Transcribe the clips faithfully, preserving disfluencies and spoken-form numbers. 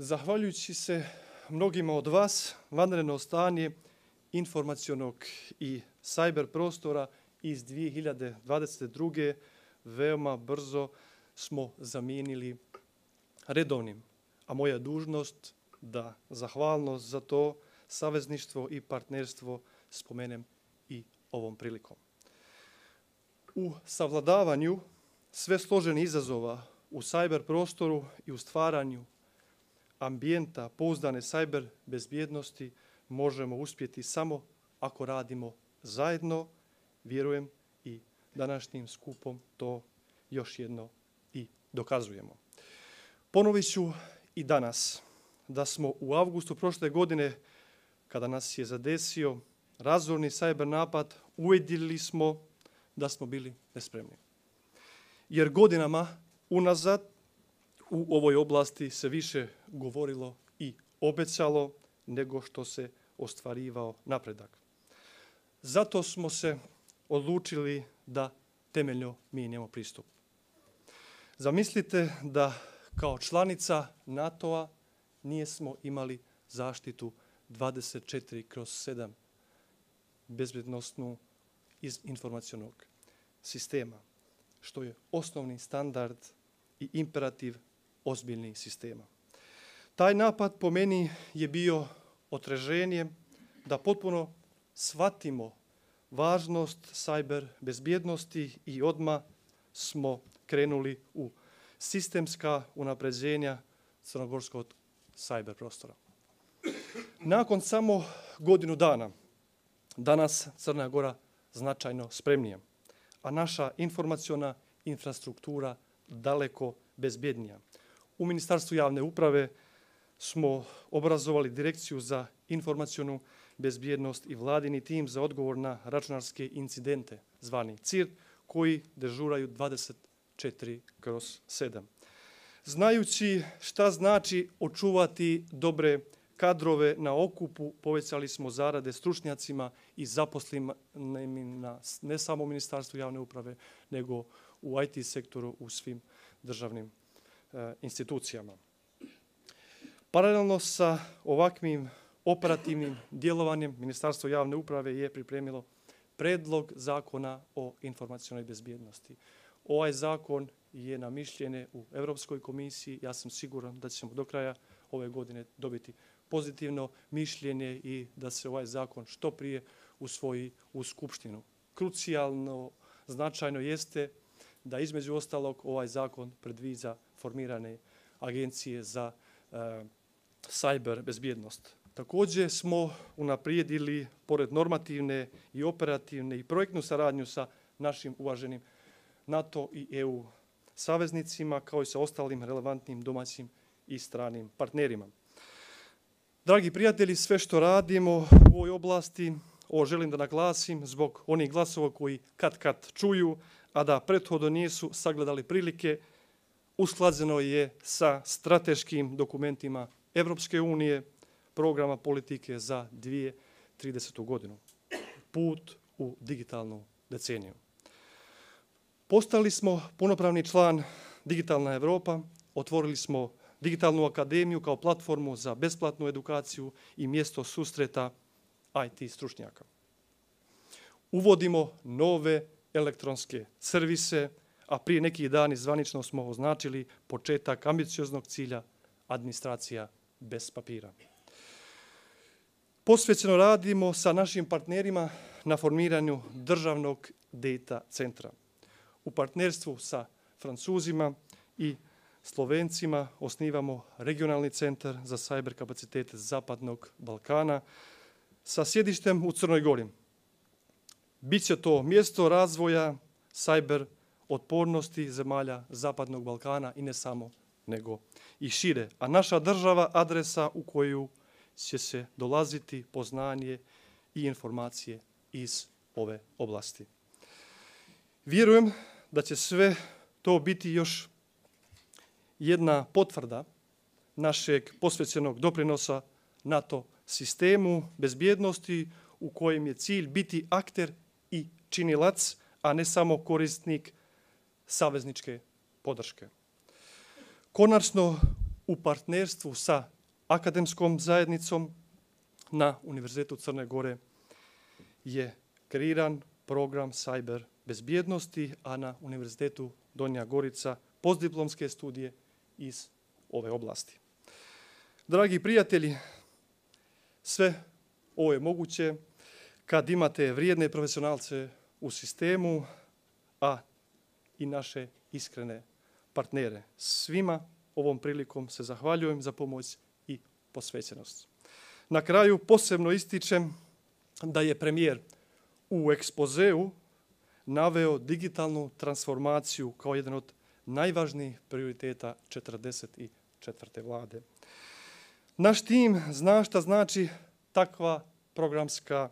Zahvaljujući se mnogima od vas, vanredno stanje informacionog i cyber prostora iz dvije hiljade dvadeset druge veoma brzo smo zamijenili redovnim. A moja dužnost da zahvalnost za to savezništvo i partnerstvo spomenem i ovom prilikom. U savladavanju sve složenih izazova u cyber prostoru i u stvaranju ambijenta pouzdane cyber bezbjednosti možemo uspjeti samo ako radimo zajedno, vjerujem i današnjim skupom to još jedno i dokazujemo. Ponovit ću i danas da smo u avgustu prošle godine, kada nas je zadesio razorni cyber napad, uvidjeli smo da smo bili nespremni. Jer godinama unazad u ovoj oblasti se više govorilo i obećalo nego što se ostvarivao napredak. Zato smo se odlučili da temeljno mijenjamo pristup. Zamislite da kao članica NATO-a nismo imali zaštitu dvadeset četiri kroz sedam bezbjednosnu iz informacionog sistema, što je osnovni standard i imperativ ozbiljnih sistema. Taj napad po meni je bio otreženje da potpuno shvatimo važnost cyber bezbjednosti i odmah smo krenuli u sistemska unapređenja crnogorskog cyber prostora. Nakon samo godinu dana, danas Crna Gora značajno spremnija, a naša informaciona infrastruktura daleko bezbjednija. U Ministarstvu javne uprave smo obrazovali Direkciju za informacionu bezbjednost i vladini tim za odgovor na računarske incidente, zvani C I R, koji dežuraju dvadeset četiri kroz sedam. Znajući šta znači očuvati dobre kadrove na okupu, povećali smo zarade stručnjacima i zaposlenim na ne samo u Ministarstvu javne uprave, nego u I T sektoru u svim državnim e, institucijama. Paralelno sa ovakvim operativnim djelovanjem, Ministarstvo javne uprave je pripremilo predlog zakona o informacionoj bezbjednosti. Ovaj zakon je na mišljenje u Europskoj komisiji. Ja sam siguran da ćemo do kraja ove godine dobiti pozitivno mišljenje i da se ovaj zakon što prije usvoji u Skupštinu. Krucijalno, značajno jeste da između ostalog ovaj zakon predviđa formirane agencije za e, cyber bezbjednost. Također smo unaprijedili, pored normativne i operativne i projektnu saradnju sa našim uvaženim NATO i E U saveznicima, kao i sa ostalim relevantnim domaćim i stranim partnerima. Dragi prijatelji, sve što radimo u ovoj oblasti, ovo želim da naglasim zbog onih glasova koji kad kad čuju, a da prethodno nisu sagledali prilike, usklađeno je sa strateškim dokumentima Evropske unije, programa politike za dvije tisuće tridesetu godinu. Put u digitalnu deceniju. Postali smo punopravni član Digitalna Europa, otvorili smo Digitalnu akademiju kao platformu za besplatnu edukaciju i mjesto susreta I T stručnjaka. Uvodimo nove elektronske servise, a prije nekih dana zvanično smo označili početak ambicioznog cilja administracija bez papira. Posvećeno radimo sa našim partnerima na formiranju državnog data centra. U partnerstvu sa Francuzima i Slovencima osnivamo regionalni centar za cyber kapacitete Zapadnog Balkana sa sjedištem u Crnoj Gori. Biće to mjesto razvoja cyber otpornosti zemalja Zapadnog Balkana i ne samo, nego i šire. A naša država adresa u koju će se dolaziti poznanje i informacije iz ove oblasti. Vjerujem da će sve to biti još jedna potvrda našeg posvećenog doprinosa NATO sistemu bezbjednosti u kojem je cilj biti akter i činilac, a ne samo korisnik savezničke podrške. Konačno, u partnerstvu sa akademskom zajednicom na Univerzitetu Crne Gore je kreiran program cyber bezbjednosti, a na Univerzitetu Donja Gorica postdiplomske studije iz ove oblasti. Dragi prijatelji, sve ovo je moguće kad imate vrijedne profesionalce u sistemu, a i naše iskrene partnere. Svima ovom prilikom se zahvaljujem za pomoć i posvećenost. Na kraju posebno ističem da je premijer u ekspozeu naveo digitalnu transformaciju kao jedan od najvažnijih prioriteta četrdeset četvrte vlade. Naš tim zna šta znači takva programska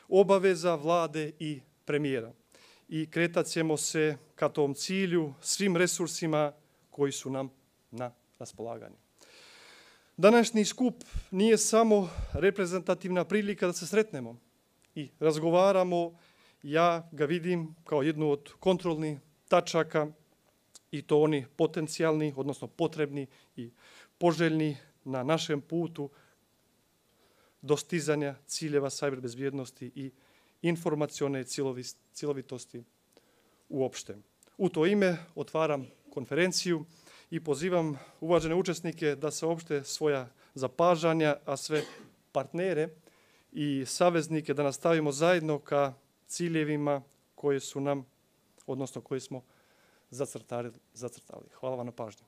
obaveza vlade i premijera i kretat ćemo se ka tom cilju svim resursima koji su nam na raspolaganju. Današnji skup nije samo reprezentativna prilika da se sretnemo i razgovaramo. Ja ga vidim kao jednu od kontrolnih tačaka i to oni potencijalni, odnosno potrebni i poželjni na našem putu dostizanja ciljeva cyber bezbjednosti i informacione cjelovitosti uopšte. U to ime otvaram konferenciju i pozivam uvažene učesnike da saopšte svoja zapažanja, a sve partnere i saveznike da nastavimo zajedno ka ciljevima koje su nam, odnosno koje smo zacrtali. Hvala vam na pažnju.